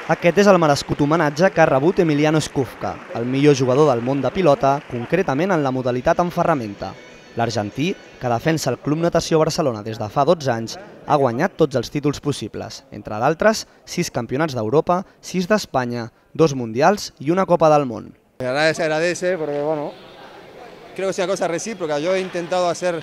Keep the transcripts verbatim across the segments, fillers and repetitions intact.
Aquest és el merescut homenatge que ha rebut Emiliano Skufka, el millor jugador del món de pilota, concretament en la modalitat en ferramenta. L'argentí, que defensa el Club Natació Barcelona des de fa dotze anys, ha guanyat tots els títols possibles, entre d'altres, sis campionats d'Europa, sis d'Espanya, dos mundials i una Copa del Món. La verdad se agradece porque, bueno, creo que es una cosa recíproca. Yo he intentado hacer,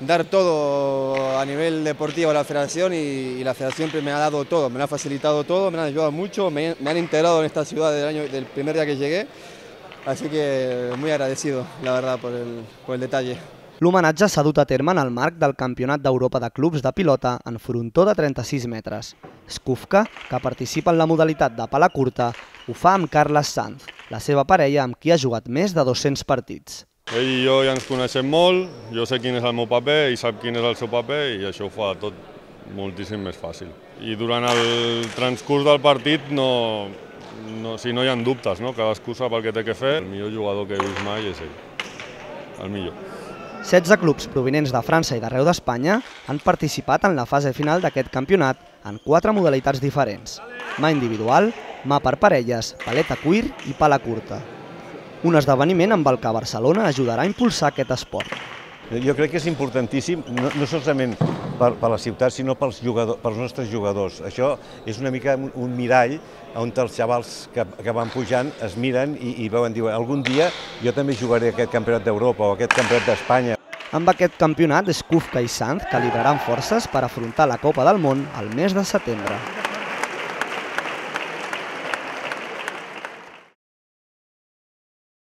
dar todo a nivel deportivo a la federación y, y la federación me ha dado todo, me ha facilitado todo, me han ayudado mucho, me, me han integrado en esta ciudad del, año, del primer día que llegué, así que muy agradecido, la verdad, por el, por el detalle. L'homenatge s'ha dut a terme en el marc del Campionat d'Europa de Clubs de Pilota en frontó de trenta-sis metres. Skufka, que participa en la modalitat de pala curta, ho fa amb Carles Sanz, la seva parella amb qui ha jugat més de dos-cents partits. Ell i jo ja ens coneixem molt, jo sé quin és el meu paper, ell sap quin és el seu paper i això ho fa tot moltíssim més fàcil. I durant el transcurs del partit no, no, si no hi ha dubtes, no? Cadascú sap el que té que fer. El millor jugador que he vist mai és ell, el millor. setze clubs provinents de França i d'arreu d'Espanya han participat en la fase final d'aquest campionat en quatre modalitats diferents: mà individual, mà per parelles, paleta cuir i pala curta. Un esdeveniment amb el que Barcelona ajudarà a impulsar aquest esport. Jo crec que és importantíssim, no, no solament per, per la ciutat, sinó pels, jugador, pels nostres jugadors. Això és una mica un, un mirall on els xavals que, que van pujant es miren i, i veuen, diuen, algun dia jo també jugaré aquest campionat d'Europa o aquest campionat d'Espanya. Amb aquest campionat, Skufka i Sanz calibraran forces per afrontar la Copa del Món al mes de setembre.